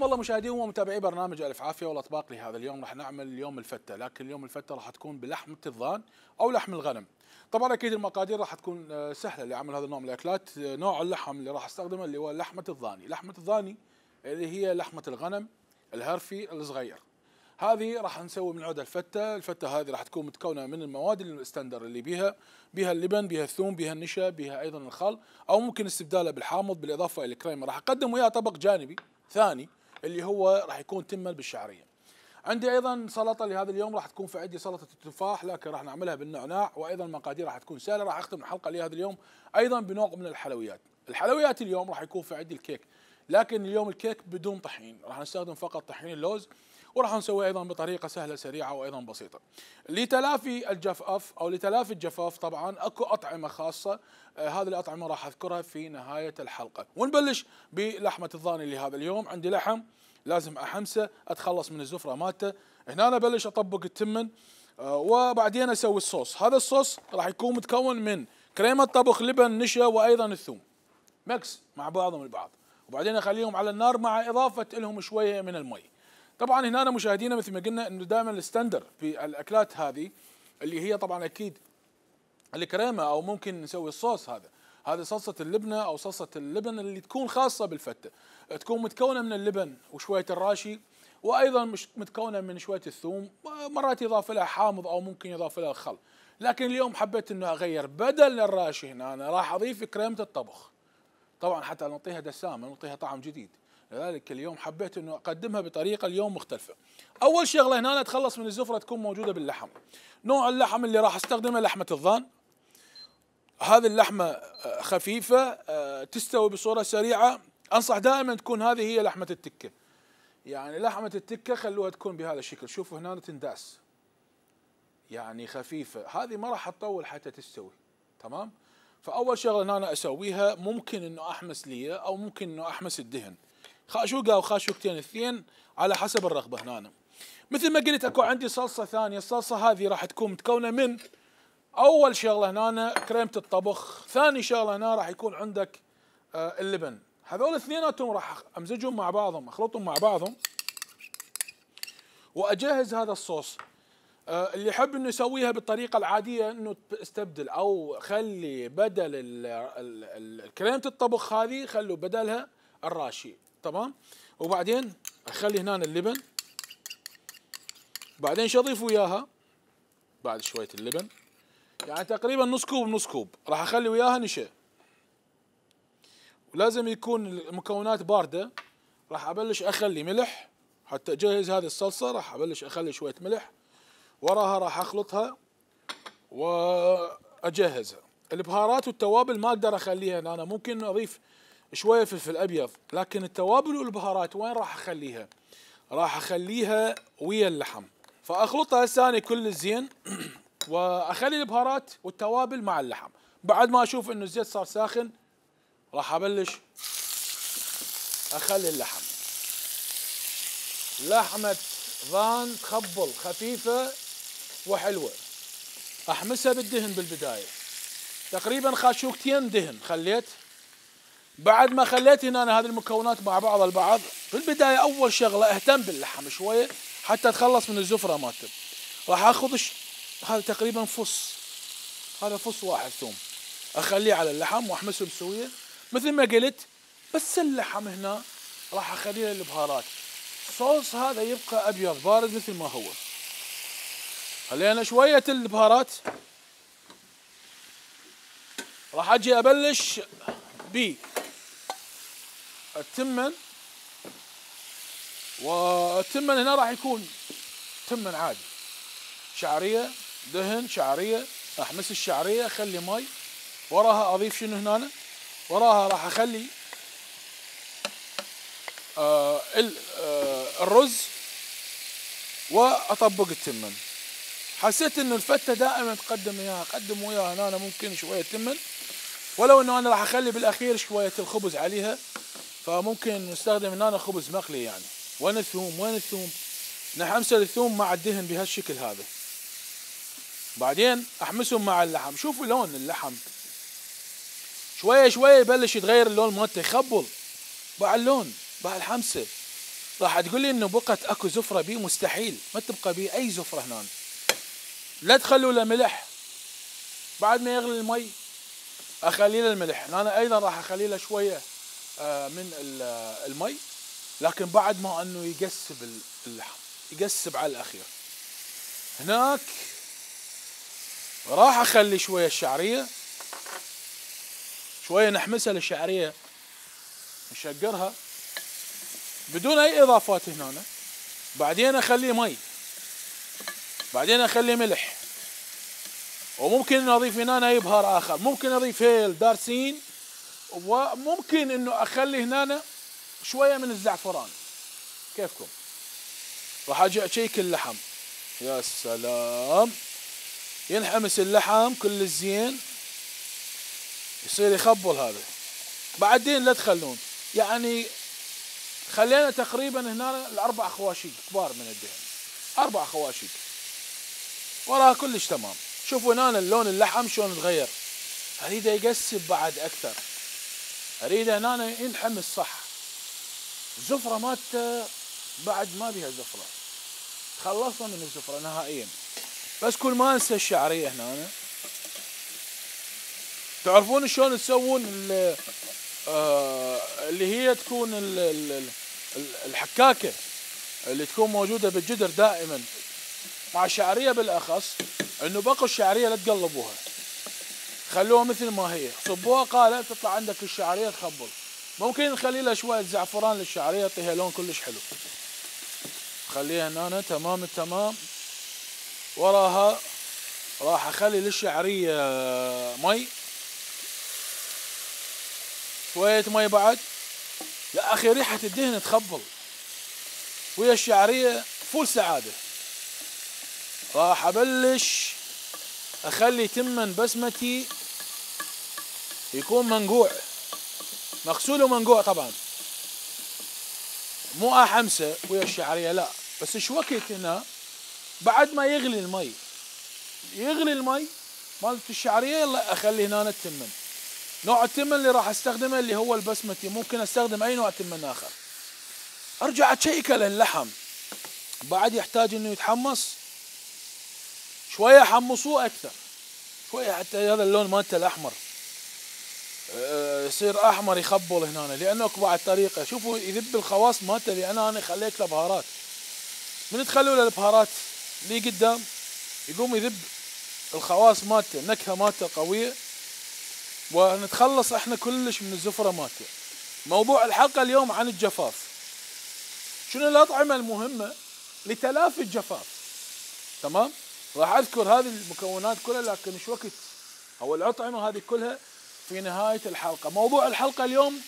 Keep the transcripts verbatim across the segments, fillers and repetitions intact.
الله مشاهدين ومتابعي برنامج الف عافيه والاطباق لهذا اليوم. راح نعمل اليوم الفته، لكن اليوم الفته راح تكون بلحمه الضان او لحم الغنم. طبعا اكيد المقادير راح تكون سهله لعمل هذا النوع من الاكلات. نوع اللحم اللي راح استخدمه اللي هو لحمه الضاني، لحمه الضاني اللي هي لحمه الغنم الهرفي الصغير. هذه راح نسوي من عودها الفته، الفته هذه راح تكون متكونه من المواد الستاندر اللي بيها بيها اللبن، بيها الثوم، بيها النشا، بيها ايضا الخل، او ممكن استبداله بالحامض بالاضافه الى الكريمه. راح اقدم وياه طبق جانبي ثاني اللي هو راح يكون تمن بالشعريه. عندي ايضا سلطه لهذا اليوم، راح تكون في عندي سلطه التفاح لكن راح نعملها بالنعناع، وايضا المقادير راح تكون سهله. راح اختم الحلقه لهذا اليوم ايضا بنوع من الحلويات. الحلويات اليوم راح يكون في عندي الكيك، لكن اليوم الكيك بدون طحين، راح نستخدم فقط طحين اللوز، وراح نسويه ايضا بطريقه سهله سريعه وايضا بسيطه. لتلافي الجفاف او لتلافي الجفاف طبعا اكو اطعمه خاصه، آه هذه الاطعمه راح اذكرها في نهايه الحلقه. ونبلش بلحمه الضاني لهذا اليوم. عندي لحم لازم احمسه، اتخلص من الزفره مالته. هنا أنا ابلش اطبق التمن، آه وبعدين اسوي الصوص. هذا الصوص راح يكون متكون من كريمه طبخ، لبن، نشا، وايضا الثوم، ميكس مع بعضهم البعض، وبعدين اخليهم على النار مع اضافه لهم شويه من المي. طبعا هنا مشاهدينا مثل ما قلنا انه دائما الستاندر في الاكلات هذه اللي هي طبعا اكيد الكريمه، او ممكن نسوي الصوص هذا، هذه صلصه اللبنه او صلصه اللبن اللي تكون خاصه بالفته، تكون متكونه من اللبن وشويه الراشي، وايضا مش متكونه من شويه الثوم، مرات يضاف لها حامض او ممكن يضاف لها الخل. لكن اليوم حبيت انه اغير، بدل الراشي هنا أنا راح اضيف كريمه الطبخ، طبعا حتى نعطيها دسامه نعطيها طعم جديد. لذلك اليوم حبيت انه اقدمها بطريقه اليوم مختلفه. اول شغله هنا اتخلص من الزفره تكون موجوده باللحم. نوع اللحم اللي راح استخدمه لحمه الضان. هذه اللحمه خفيفه تستوي بصوره سريعه. انصح دائما تكون هذه هي لحمه التكه، يعني لحمه التكه خلوها تكون بهذا الشكل. شوفوا هنا تنداس، يعني خفيفه، هذه ما راح تطول حتى تستوي. تمام. فاول شغله هنا أنا اسويها، ممكن انه احمس ليه او ممكن انه احمس الدهن، خاشوقه او خاشوقتين اثنين على حسب الرغبه. هنا مثل ما قلت اكو عندي صلصه ثانيه، الصلصه هذه راح تكون متكونه من اول شغله هنا كريمه الطبخ، ثاني شغله هنا راح يكون عندك آه اللبن. هذول اثنيناتهم راح امزجهم مع بعضهم، اخلطهم مع بعضهم واجهز هذا الصوص. آه اللي يحب انه يسويها بالطريقه العاديه انه استبدل او خلي بدل كريمه الطبخ هذه خلوا بدلها الراشي. تمام. وبعدين اخلي هنا اللبن، بعدين شو اضيف وياها بعد شويه اللبن، يعني تقريبا نص كوب نص كوب. راح اخلي وياها نشا، ولازم يكون المكونات بارده. راح ابلش اخلي ملح حتى اجهز هذه الصلصه، راح ابلش اخلي شويه ملح، وراها راح اخلطها واجهزها. البهارات والتوابل ما اقدر اخليها هنا، أنا ممكن اضيف شويه فلفل ابيض، لكن التوابل والبهارات وين راح اخليها؟ راح اخليها ويا اللحم. فاخلطها هسه أنا كل زين واخلي البهارات والتوابل مع اللحم. بعد ما اشوف انه الزيت صار ساخن راح ابلش اخلي اللحم. لحمه ضان تخبل خفيفه وحلوه، احمسها بالدهن بالبدايه، تقريبا خاشوقتين دهن خليت. بعد ما خليت هنا أنا هذه المكونات مع بعض البعض، في البدايه اول شغله اهتم باللحم شويه حتى اتخلص من الزفره مالته. راح اخذ هذا تقريبا فص، هذا فص واحد ثوم، اخليه على اللحم واحمسه بسويه مثل ما قلت. بس اللحم هنا راح اخليه البهارات، الصوص هذا يبقى ابيض بارد مثل ما هو. خلينا شويه البهارات. راح اجي ابلش ب التمن، والتمن هنا راح يكون تمن عادي، شعريه دهن شعريه، احمس الشعريه اخلي ماي، وراها اضيف شنو هنا؟ وراها راح اخلي آه آه الرز واطبق التمن. حسيت انه الفته دائما تقدم وياها قدم وياها هنا ممكن شويه تمن، ولو انه انا راح اخلي بالاخير شويه الخبز عليها، فممكن نستخدم هنا خبز مقلي يعني. وين الثوم؟ وين الثوم؟ نحمسه الثوم مع الدهن بهالشكل هذا، بعدين احمسهم مع اللحم. شوفوا لون اللحم شويه شويه يبلش يتغير اللون مالته، يخبل مع اللون مع الحمسه. راح تقول لي انه بقت اكو زفره بيه، مستحيل ما تبقى بيه اي زفره هنا. لا تخلوا له ملح، بعد ما يغلي المي اخلي له الملح. انا ايضا راح اخلي له شويه من المي، لكن بعد ما انه يقسب اللحم، يقسب على الاخير. هناك راح اخلي شويه الشعريه، شويه نحمسها للشعريه، نشقرها بدون اي اضافات هنا. بعدين اخلي مي، بعدين اخلي ملح، وممكن اضيف هنا اي بهار اخر، ممكن اضيف هيل دارسين، وممكن انه اخلي هنا شويه من الزعفران، كيفكم. راح اجي اشيك اللحم، يا سلام، ينحمس اللحم كل الزين، يصير يخبل هذا. بعدين لا تخلون، يعني خلينا تقريبا هنا الاربع خواشيق كبار من الدهن، اربع خواشيق، وراها كلش تمام. شوفوا هنا اللون اللحم شلون تغير، اريده يقسب بعد اكثر، اريده هنا ينحمس صح. الزفره مالته بعد ما بيها زفره، خلصنا من الزفره نهائيا. بس كل ما انسى الشعريه هنا. تعرفون شلون تسوون آه اللي هي تكون ال ال الحكاكه اللي تكون موجوده بالجدر دائما مع الشعريه بالاخص، انه بقوا الشعريه لا تقلبوها، خلوها مثل ما هي، صبوها قالة تطلع عندك الشعريه تخبل. ممكن نخلي لها شويه زعفران للشعريه يعطيها لون كلش حلو. خليها هنا تمام التمام. وراها راح اخلي للشعريه مي، شويه مي بعد. يا اخي ريحه الدهن تخبل ويا الشعريه فول سعاده. راح ابلش اخلي تمن بسمتي يكون منقوع، مغسول ومنقوع طبعا، مو احمسه ويا الشعريه لا، بس ايش وقت هنا بعد ما يغلي المي، يغلي المي مالت الشعريه، يلا اخلي هنا التمن. نوع التمن اللي راح استخدمه اللي هو البسمتي، ممكن استخدم اي نوع تمن اخر. ارجع اشيكه للحم، بعد يحتاج انه يتحمص شويه، حمصوه اكثر شويه حتى هذا اللون مالته الاحمر يصير احمر يخبل هنا، لانه اكو بعد طريقه. شوفوا يذب الخواص مالته، لان انا خليت له بهارات. من تخلوا له البهارات اللي قدام يقوم يذب الخواص مالته، النكهه مالته قويه، ونتخلص احنا كلش من الزفره مالته. موضوع الحلقه اليوم عن الجفاف، شنو الاطعمه المهمه لتلافي الجفاف. تمام، راح اذكر هذه المكونات كلها، لكن ايش وقت او الاطعمه هذه كلها في نهايه الحلقه. موضوع الحلقه اليوم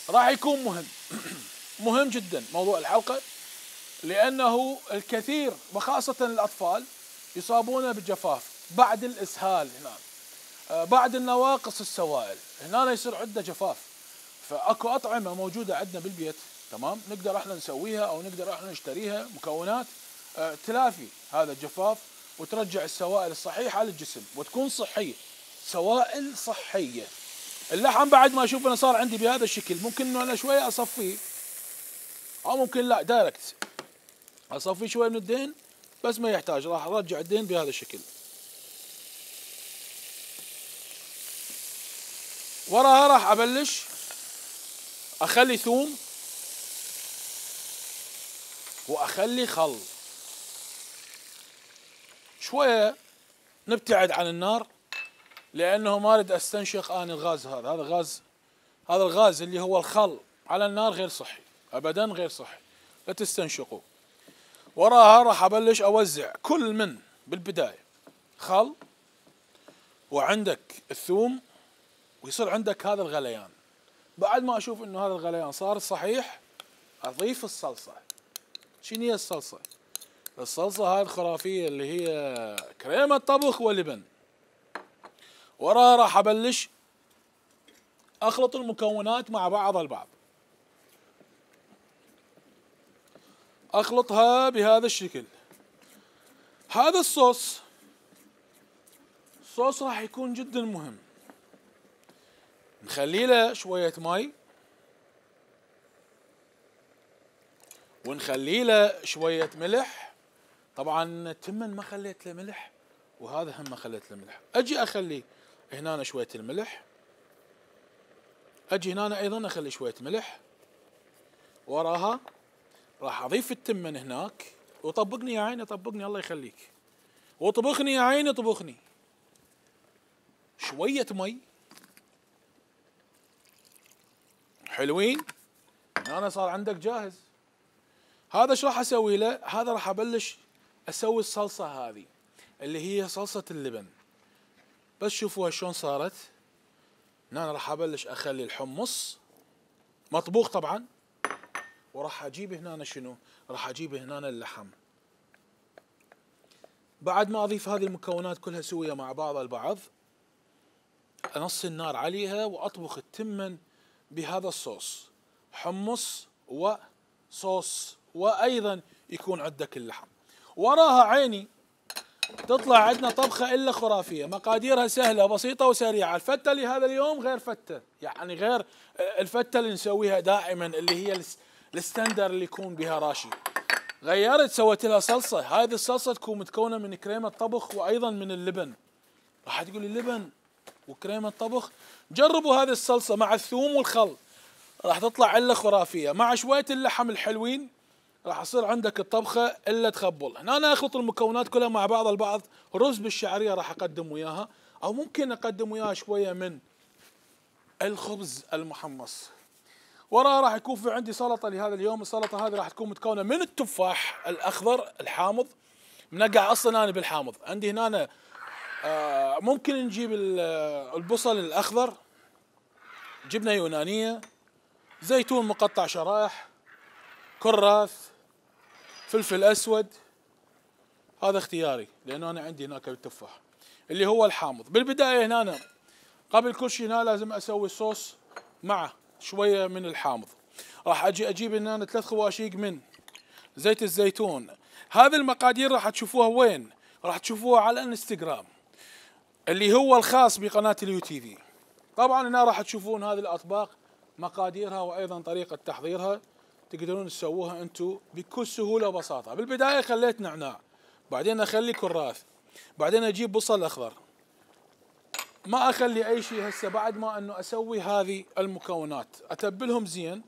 راح يكون مهم مهم جدا موضوع الحلقه، لانه الكثير وخاصه الاطفال يصابون بالجفاف بعد الاسهال، هنا بعد النواقص السوائل، هنا يصير عنده جفاف. فاكو اطعمه موجوده عندنا بالبيت، تمام، نقدر احنا نسويها او نقدر احنا نشتريها مكونات تلافي هذا الجفاف وترجع السوائل الصحيحه للجسم وتكون صحيه، سوائل صحيه. اللحم بعد ما اشوف انه صار عندي بهذا الشكل، ممكن انه انا شويه اصفيه، او ممكن لا دايركت اصفيه شويه من الدهن، بس ما يحتاج، راح ارجع الدهن بهذا الشكل. وراها راح ابلش اخلي ثوم واخلي خل، شويه نبتعد عن النار لانه ما اريد استنشق اني الغاز هذا، هذا غاز، هذا الغاز اللي هو الخل على النار غير صحي ابدا، غير صحي، لا تستنشقوا. وراها راح ابلش اوزع كل من بالبدايه خل، وعندك الثوم، ويصير عندك هذا الغليان. بعد ما اشوف انه هذا الغليان صار صحيح اضيف الصلصه. شنو هي الصلصه؟ الصلصه هاي الخرافيه اللي هي كريمه طبخ ولبن. وراها راح ابلش اخلط المكونات مع بعض البعض، اخلطها بهذا الشكل. هذا الصوص الصوص راح يكون جدا مهم، نخلي له شويه مي، ونخلي له شويه ملح. طبعا التمن ما خليت له ملح، وهذا هم ما خليت له ملح. اجي اخلي هنا شويه الملح، اجي هنا ايضا اخلي شويه ملح، وراها راح اضيف التمن هناك. وطبقني يا عيني طبقني الله يخليك، وطبخني يا عيني طبخني. شويه مي حلوين، انا صار عندك جاهز. هذا ايش راح اسوي له؟ هذا راح ابلش اسوي الصلصه هذه اللي هي صلصه اللبن. بس شوفوها شلون صارت. هنا راح ابلش اخلي الحمص مطبوخ طبعا، وراح اجيب هنا شنو؟ راح اجيب هنا اللحم. بعد ما اضيف هذه المكونات كلها سويه مع بعضها البعض، انص النار عليها واطبخ التمن بهذا الصوص، حمص وصوص، وايضا يكون عندك اللحم. وراها عيني تطلع عندنا طبخه الا خرافيه، مقاديرها سهله بسيطه وسريعه. الفته لهذا اليوم غير فته، يعني غير الفته اللي نسويها دائما اللي هي الستاندر اللي يكون بها راشي. غيرت سويت لها صلصه. هذه الصلصه تكون متكونه من كريمه طبخ وايضا من اللبن. راح تقول لي لبن وكريمه طبخ؟ جربوا هذه الصلصه مع الثوم والخل، راح تطلع الا خرافيه. مع شويه اللحم الحلوين راح يصير عندك الطبخه الا تخبل. هنا انا اخلط المكونات كلها مع بعض البعض. رز بالشعريه راح اقدم وياها، او ممكن اقدم وياها شويه من الخبز المحمص. وراها راح يكون في عندي سلطه لهذا اليوم. السلطه هذه راح تكون متكونه من التفاح الاخضر الحامض، منقع اصلا انا بالحامض. عندي هنا أنا آه ممكن نجيب البصل الاخضر، جبنه يونانيه، زيتون مقطع شرائح، كراث، فلفل اسود. هذا اختياري لانه انا عندي هناك التفاح اللي هو الحامض. بالبدايه هنا أنا قبل كل شيء هنا لازم اسوي صوص مع شويه من الحامض. راح اجي اجيب هنا ثلاث خواشيق من زيت الزيتون. هذه المقادير راح تشوفوها وين؟ راح تشوفوها على الانستغرام اللي هو الخاص بقناه اليو تي في. طبعا هنا راح تشوفون هذه الاطباق مقاديرها وايضا طريقه تحضيرها، تقدرون تسووها انتم بكل سهوله وبساطه. بالبدايه خليت نعناع، بعدين اخلي كراث، بعدين اجيب بصل اخضر. ما اخلي اي شيء هسه بعد ما انه اسوي هذه المكونات، اتبلهم زين،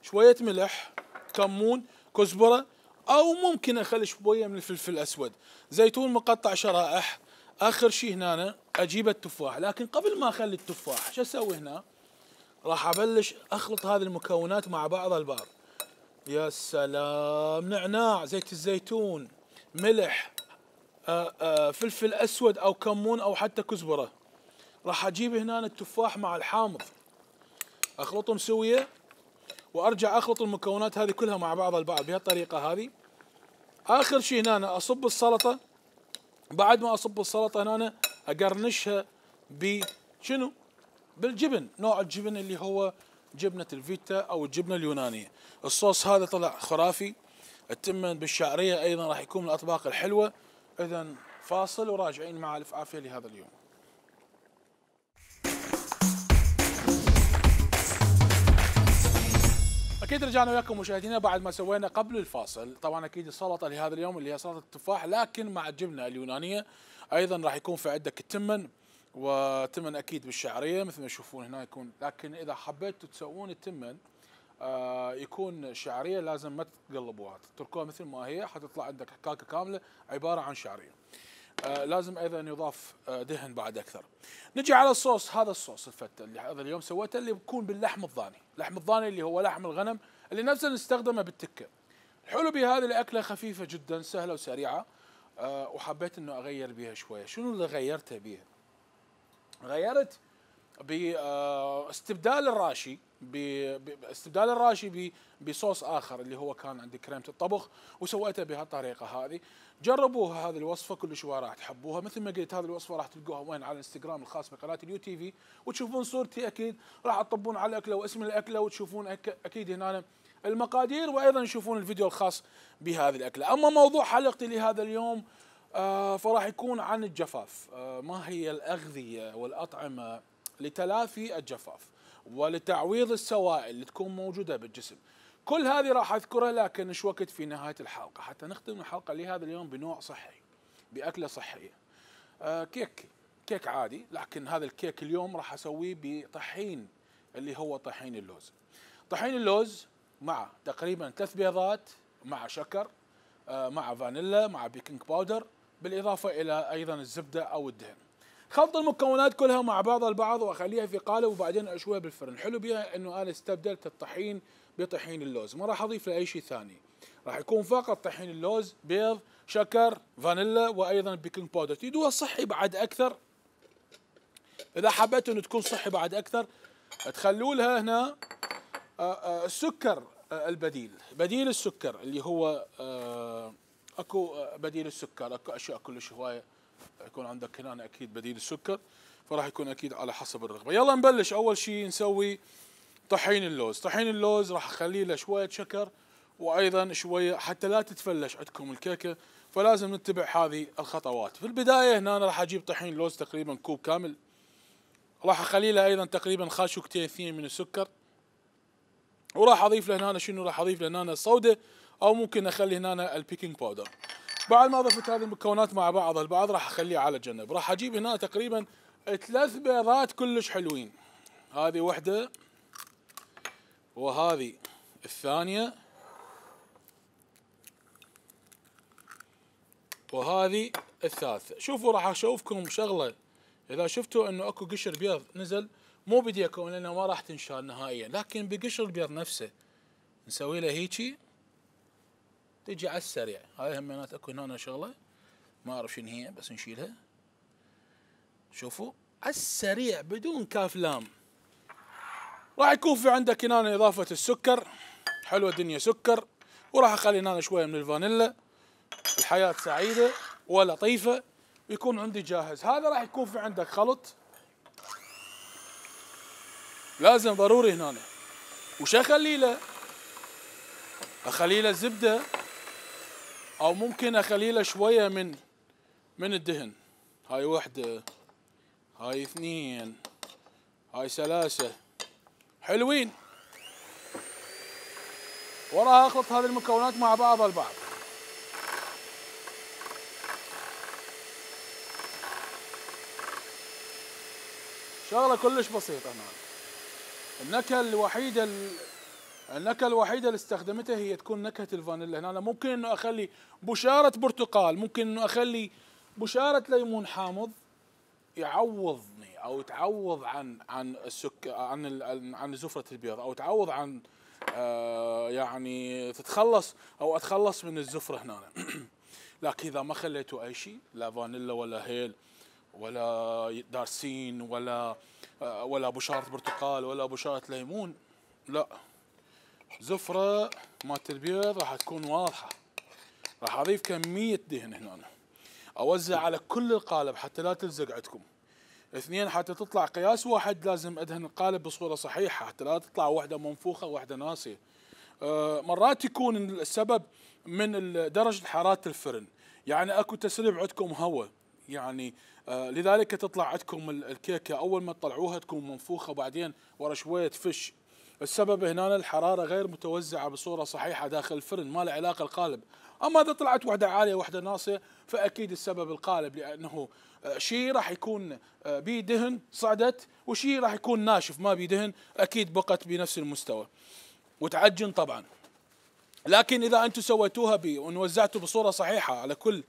شويه ملح، كمون، كزبره، او ممكن اخلي شويه من الفلفل الاسود، زيتون مقطع شرائح. اخر شيء هنا اجيب التفاح. لكن قبل ما اخلي التفاح شو اسوي هنا؟ راح ابلش اخلط هذه المكونات مع بعضها البعض. يا سلام، نعناع، زيت الزيتون، ملح، آآ آآ فلفل اسود او كمون او حتى كزبره. راح اجيب هنا التفاح مع الحامض، اخلطهم سويه، وارجع اخلط المكونات هذه كلها مع بعضها البعض بهالطريقه هذه. اخر شيء هنا اصب السلطه. بعد ما اصب السلطه هنا اقرنشها بشنو؟ بالجبن، نوع الجبن اللي هو جبنه الفيتا او الجبنه اليونانيه. الصوص هذا طلع خرافي. التمن بالشعريه ايضا راح يكون من الاطباق الحلوه. اذا فاصل وراجعين مع الف عافيه لهذا اليوم. اكيد رجعنا وياكم مشاهدينا بعد ما سوينا قبل الفاصل. طبعا اكيد السلطه لهذا اليوم اللي هي سلطه التفاح لكن مع الجبنه اليونانيه. ايضا راح يكون في عندك التمن، وتمن اكيد بالشعريه مثل ما تشوفون هنا يكون. لكن اذا حبيتوا تسوون التمن آه يكون شعريه لازم ما تقلبوها، تتركوها مثل ما هي حتطلع عندك حكاكه كامله عباره عن شعريه. آه لازم ايضا يضاف آه دهن بعد اكثر. نجي على الصوص. هذا الصوص الفته اللي هذا اليوم سويته اللي بيكون باللحم الضاني، اللحم الضاني اللي هو لحم الغنم اللي نفسه نستخدمه بالتكه. الحلو بهذه الاكله خفيفه جدا سهله وسريعه. آه وحبيت انه اغير بها شويه. شنو اللي غيرته بها؟ غيرت باستبدال الراشي باستبدال الراشي بصوص اخر اللي هو كان عندي كريمه الطبخ، وسويته بهالطريقه هذه. جربوها هذه الوصفه كل شوي راح تحبوها. مثل ما قلت هذه الوصفه راح تلقوها وين؟ على الانستغرام الخاص بقناه اليو تي في، وتشوفون صورتي اكيد. راح تطبون على الاكله واسم الاكله وتشوفون اكيد هنا المقادير، وايضا تشوفون الفيديو الخاص بهذه الاكله. اما موضوع حلقتي لهذا اليوم آه فراح يكون عن الجفاف. آه ما هي الاغذيه والاطعمه لتلافي الجفاف ولتعويض السوائل اللي تكون موجوده بالجسم. كل هذه راح اذكرها لكن ايش وقت في نهايه الحلقه حتى نختم الحلقه لهذا اليوم بنوع صحي، باكله صحيه. آه كيك كيك عادي، لكن هذا الكيك اليوم راح اسويه بطحين اللي هو طحين اللوز. طحين اللوز مع تقريبا ثلاث بيضات مع شكر آه مع فانيلا مع بيكنج باودر، بالاضافه الى ايضا الزبده او الدهن. خلط المكونات كلها مع بعض البعض واخليها في قالب وبعدين اشويها بالفرن. حلو بها انه انا استبدلت الطحين بطحين اللوز، ما راح اضيف له اي شيء ثاني، راح يكون فقط طحين اللوز، بيض، شكر، فانيلا وايضا بيكنج باودر. تريدوها صحي بعد اكثر، اذا حبيتوا انه تكون صحي بعد اكثر تخلوا لها هنا السكر البديل، بديل السكر اللي هو اكو بديل السكر، اكو اشياء كلش هوايه يكون عندك هنا اكيد بديل السكر، فراح يكون اكيد على حسب الرغبه. يلا نبلش. اول شيء نسوي طحين اللوز. طحين اللوز راح اخلي له شويه شكر وايضا شويه حتى لا تتفلش عندكم الكيكه، فلازم نتبع هذه الخطوات. في البدايه هنا أنا راح اجيب طحين لوز تقريبا كوب كامل، راح اخلي له ايضا تقريبا خاشوقتين اثنين من السكر، وراح اضيف له هنا شنو؟ راح اضيف له هنا الصودا او ممكن اخلي هنا البيكنج باودر. بعد ما ضفت هذه المكونات مع بعض البعض راح اخليها على جنب. راح اجيب هنا تقريبا ثلاث بيضات كلش حلوين، هذه واحده وهذه الثانيه وهذه الثالثه. شوفوا راح اشوفكم شغله، اذا شفتوا انه اكو قشر بيض نزل مو بديكم لانه ما راح تنشال نهائيا، لكن بقشر البيض نفسه نسوي له هيجي تجي على السريع. هاي همينات اكو هنا شغله ما اعرف شنو هي بس نشيلها. شوفوا على السريع بدون كاف لام. راح يكون في عندك هنا اضافه السكر، حلوه الدنيا سكر، وراح اخلي هنا شويه من الفانيلا. الحياه سعيده ولطيفه يكون عندي جاهز. هذا راح يكون في عندك خلط لازم ضروري هنا. وش اخلي له؟ اخلي له زبده او ممكن اخلي له شويه من من الدهن. هاي وحده، هاي اثنين، هاي ثلاثه، حلوين. وراها اخلط هذه المكونات مع بعض البعض. شغله كلش بسيطه هنا. النكهه الوحيده النكهه الوحيده اللي استخدمتها هي تكون نكهه الفانيلا. هنا ممكن انه اخلي بشاره برتقال، ممكن انه اخلي بشاره ليمون حامض يعوضني او تعوض عن عن السكر عن عن زفره البيض، او تعوض عن آه يعني تتخلص او اتخلص من الزفره هنا. لكن اذا ما خليتوا اي شيء، لا فانيلا ولا هيل ولا دارسين ولا آه ولا بشاره برتقال ولا بشاره ليمون، لا، زفره مالت البيض راح تكون واضحه. راح اضيف كميه دهن هنا، اوزع على كل القالب حتى لا تلزق عندكم. اثنين، حتى تطلع قياس واحد لازم ادهن القالب بصوره صحيحه حتى لا تطلع واحده منفوخه وواحده ناسيه. أه مرات يكون السبب من درجه حراره الفرن، يعني اكو تسريب عندكم هواء، يعني أه لذلك تطلع عندكم الكيكه اول ما تطلعوها تكون منفوخه وبعدين ورا شويه تفش. السبب هنا الحراره غير متوزعه بصوره صحيحه داخل الفرن، ما له علاقه القالب. اما اذا طلعت واحده عاليه واحده ناصيه فاكيد السبب القالب، لانه شيء راح يكون بيه دهن صعدت وشيء راح يكون ناشف ما بيه دهن اكيد بقت بنفس المستوى وتعجن طبعا. لكن اذا انتم سويتوها بي ووزعتوا بصوره صحيحه على كل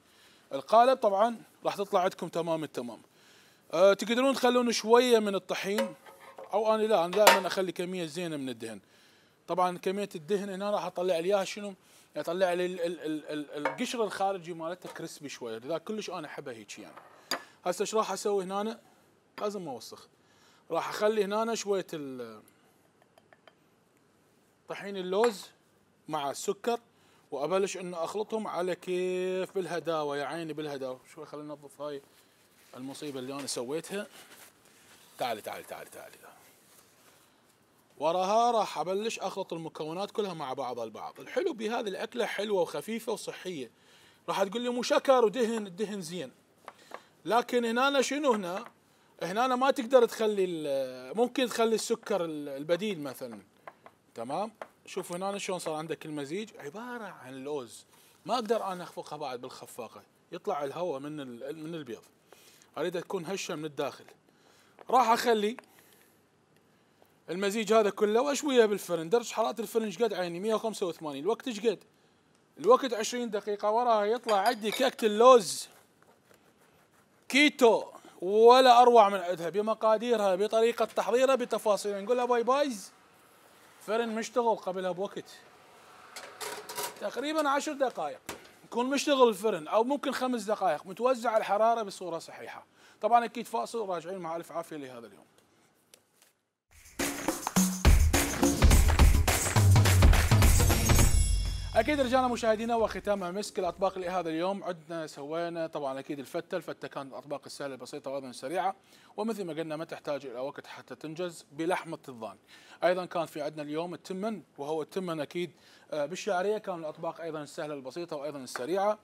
القالب طبعا راح تطلع عندكم تمام التمام. أه تقدرون تخلون شويه من الطحين، او انا لا، انا دائما اخلي كميه زينه من الدهن. طبعا كميه الدهن هنا راح اطلع لي اياها شنو؟ يطلع لي القشر الخارجي مالتها كريسبي شويه، لذلك كلش انا احبها هيك. يعني هسه ايش راح اسوي هنا؟ لازم اوسخ. راح اخلي هنا شويه طحين اللوز مع السكر وابلش انه اخلطهم على كيف بالهداوه، يا عيني بالهداوه. شوي خلينا ننظف هاي المصيبه اللي انا سويتها. تعالي تعالي تعالي تعالي. وراها راح ابلش اخلط المكونات كلها مع بعض البعض. الحلو بهذه الاكله حلوه وخفيفه وصحيه. راح تقول لي مو شكر ودهن، الدهن زين، لكن هنا شنو؟ هنا هنا ما تقدر تخلي، ممكن تخلي السكر البديل مثلا، تمام؟ شوفوا هنا شلون صار عندك المزيج عباره عن لوز، ما اقدر انا اخفقها بعد بالخفاقه، يطلع الهواء من من البيض، اريدها تكون هشه من الداخل. راح اخلي المزيج هذا كله واشويه بالفرن، درجه حراره الفرن ايش قد عيني؟ مئة وخمسة وثمانين، الوقت ايش قد؟ الوقت عشرين دقيقه، وراها يطلع عندي كيكه اللوز كيتو ولا اروع من عندها، بمقاديرها بطريقه تحضيرها بتفاصيلها. نقول لها باي بايز، فرن مشتغل قبلها بوقت تقريبا عشر دقائق يكون مشتغل الفرن، او ممكن خمس دقائق، متوزع الحراره بصوره صحيحه. طبعا اكيد فاصل وراجعين مع الف عافيه لهذا اليوم. اكيد رجعنا مشاهدينا وختامها مسك الاطباق لهذا اليوم. عدنا سوينا طبعا اكيد الفته، الفته كانت الاطباق السهله البسيطه وايضا السريعه، ومثل ما قلنا ما تحتاج الى وقت حتى تنجز، بلحمه الضان. ايضا كان في عندنا اليوم التمن، وهو التمن اكيد بالشعريه، كان الاطباق ايضا السهله البسيطه وايضا السريعه.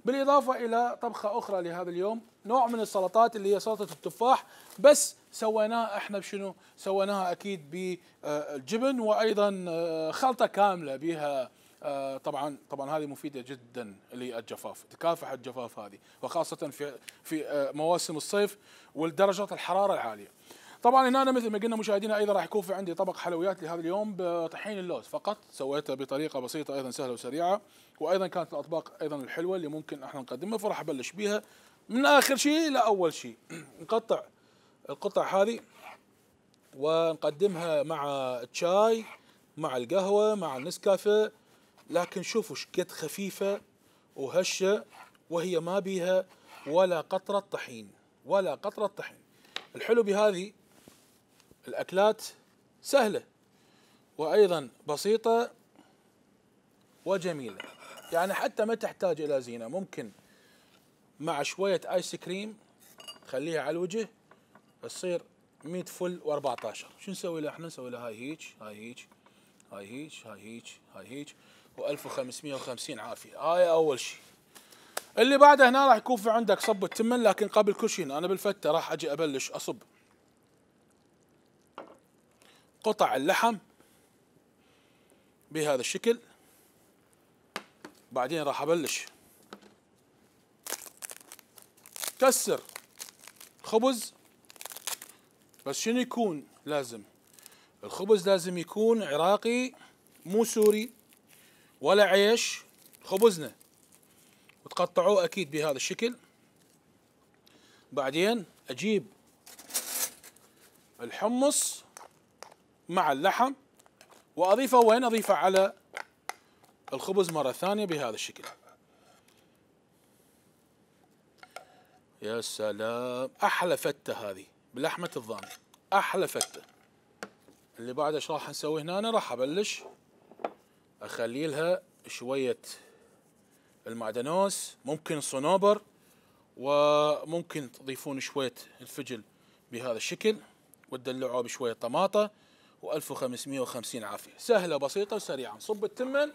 بالاضافه الى طبخه اخرى لهذا اليوم، نوع من السلطات اللي هي سلطه التفاح، بس سويناها احنا بشنو؟ سويناها اكيد بالجبن، وايضا خلطه كامله بها. آه طبعا طبعا هذه مفيده جدا للجفاف، تكافح الجفاف هذه، وخاصه في في آه مواسم الصيف والدرجات الحراره العاليه. طبعا هنا مثل ما قلنا مشاهدينا ايضا راح يكون في عندي طبق حلويات لهذا اليوم بطحين اللوز فقط، سويته بطريقه بسيطه ايضا سهله وسريعه، وايضا كانت الاطباق ايضا الحلوه اللي ممكن احنا نقدمها، فراح ابلش بها من اخر شيء لاول شيء. نقطع القطع هذه ونقدمها مع الشاي، مع القهوه، مع النسكافيه، لكن شوفوا ايش قد خفيفه وهشه، وهي ما بيها ولا قطره طحين، ولا قطره طحين. الحلو بهذه الاكلات سهله وايضا بسيطه وجميله، يعني حتى ما تحتاج الى زينه، ممكن مع شويه ايس كريم تخليها على الوجه تصير مية فل و14. شو نسوي لها احنا؟ نسوي لها هاي هيج، هاي هيج، هاي هيج، هاي هيج، هاي هيج، وألف وخمسمئة وخمسين عافيه. هاي اول شيء. اللي بعده هنا راح يكون في عندك صب التمن، لكن قبل كل شيء انا بالفته راح اجي ابلش اصب قطع اللحم بهذا الشكل، بعدين راح ابلش كسر خبز، بس شنو يكون لازم؟ الخبز لازم يكون عراقي مو سوري ولا عيش، خبزنا، وتقطعوه اكيد بهذا الشكل. بعدين اجيب الحمص مع اللحم واضيفه، وين اضيفه؟ على الخبز مره ثانيه بهذا الشكل. يا سلام، احلى فته هذه بلحمه الضان، احلى فته. اللي بعد ايش راح نسوي هنا؟ أنا راح ابلش اخلي لها شويه المعدنوس، ممكن صنوبر، وممكن تضيفون شويه الفجل بهذا الشكل، وتدلعوه بشويه طماطه، وألف وخمسمئة وخمسين عافيه. سهله بسيطه وسريعه. نصب التمن.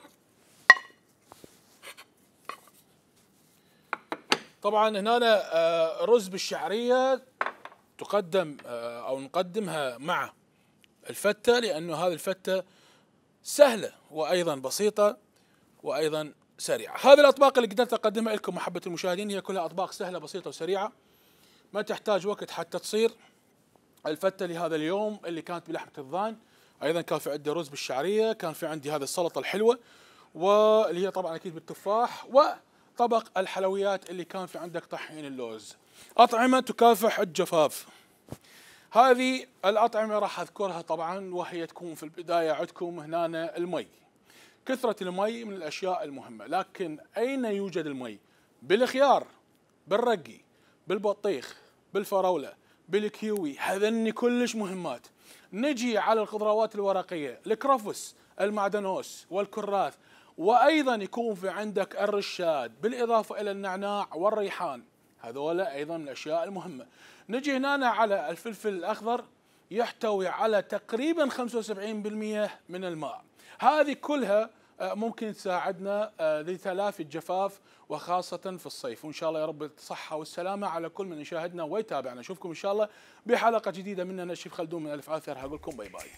طبعا هنا رز بالشعريه تقدم او نقدمها مع الفته، لانه هذه الفته سهله وايضا بسيطه وايضا سريعه. هذه الاطباق اللي قدرت اقدمها لكم محبه المشاهدين هي كلها اطباق سهله بسيطه وسريعه، ما تحتاج وقت حتى تصير. الفته لهذا اليوم اللي كانت بلحمه الضان، ايضا كان في عندي رز بالشعريه، كان في عندي هذه السلطه الحلوه واللي هي طبعا اكيد بالتفاح، وطبق الحلويات اللي كان في عندك طحين اللوز. اطعمه تكافح الجفاف. هذه الأطعمة راح أذكرها طبعا، وهي تكون في البداية عندكم هنا المي. كثرة المي من الأشياء المهمة، لكن أين يوجد المي؟ بالخيار، بالرقي، بالبطيخ، بالفراولة، بالكيوي، هذني كلش مهمات. نجي على الخضروات الورقية، الكرفس، المعدنوس والكراث، وأيضا يكون في عندك الرشاد، بالإضافة إلى النعناع والريحان، هذولا أيضا من الأشياء المهمة. نجي هنا على الفلفل الأخضر، يحتوي على تقريبا خمسة وسبعين بالمئة من الماء. هذه كلها ممكن تساعدنا لتلافي الجفاف وخاصة في الصيف، وإن شاء الله يا رب الصحة والسلامة على كل من يشاهدنا ويتابعنا. نشوفكم إن شاء الله بحلقة جديدة مننا الشيف خلدون من ألف عافية، راح أقول لكم باي باي.